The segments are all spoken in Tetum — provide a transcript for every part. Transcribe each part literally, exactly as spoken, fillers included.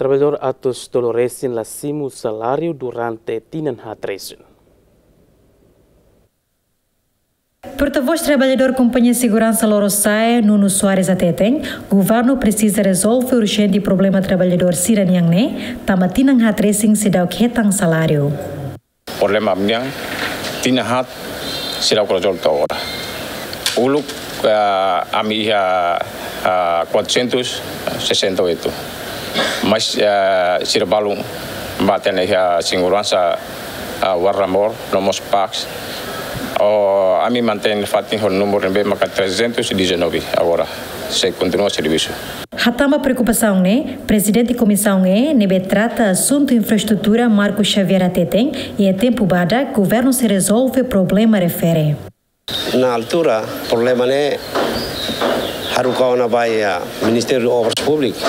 Trabalhadór atus tolu resin la simu saláriu durante tinan haat resin. Portavós trabalhadór Kompañia Seguransa Lorosa'e, Nuno Soares hateten, governu presiza rezolve urjente problema trabalhadór sira-nian ne'e, tanba tinan haat resin seidauk hetan saláriu. Problema ami-nian, tinan haat seidauk rezolve to'o agora. Uluk, ah, ami iha, ah, quatrocentos e sessenta e oito. Mas, ah, sira balun mate iha seguransa, ah, Warramor, no mós Pax. O, ami mantein fatin ho númeru ne'ebé maka trezentos e dezanove agora. Sei kontinua servisu. Hatán ba preokupasaun ne'e, Prezidente Komisaun E, ne'ebé trata asuntu infraestrutura Marco Xavier hateten, iha tempu badak, governu sei rezolve problema refere. Na altura, problema ne'e haruka ona ba iha Ministériu Obras Públikas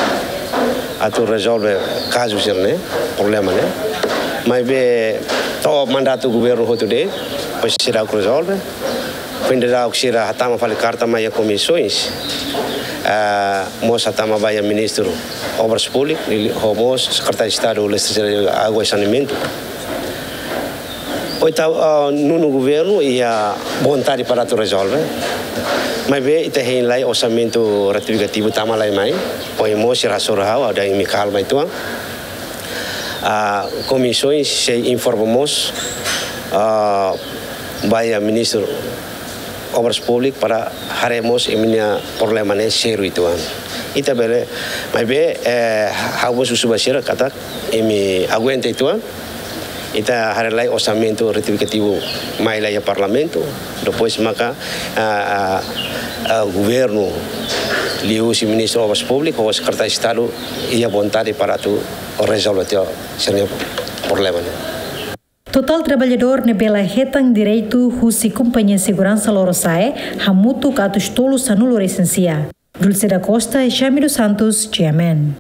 atu rezolve kazu sira-ne'e, problema ne'e. Maibé to'o mandatu governu hotu de'it, depois seidauk rezolve. Foin daudauk sira hatama fali karta mai iha komisaun, ah, mós hatama ba iha Ministru Obras Públikas, ho mós Sekretáriu Estadu Eletrisidade, Água e Saneamentu. Oitau, ah, nono governu iha vontade para atu rezolve. Maibé ita hein lai orsamentu retifikativu tama lai mai. Ohin mós sira hasoru ha'u, ha'u dehan imi kalma uitoan. Ah, komisaun sei informa mós, ah, ba iha Ministru Obras Públikas para haree mós imi-nia problema ne'e sériu uitoan. Ita bele, maibé, eh, ha'u mós husu ba sira katak imi aguenta uitoan. Ita haree lai orsamentu retifikativu mai lai iha Parlamentu. Depois maka, ah, ah, ah, governu liuhusi Ministru Obras Públikas ho Sekretáriu Estadu iha vontade para atu rezolve tiha sira-nia problema ne'e. Totál trabalhadór ne'ebé la hetan direitu husi Kompañia Seguransa Lorosa'e hamutuk atus tolu sanulu resin sia. Dulce da Costa, Jamiro Santos, G M N.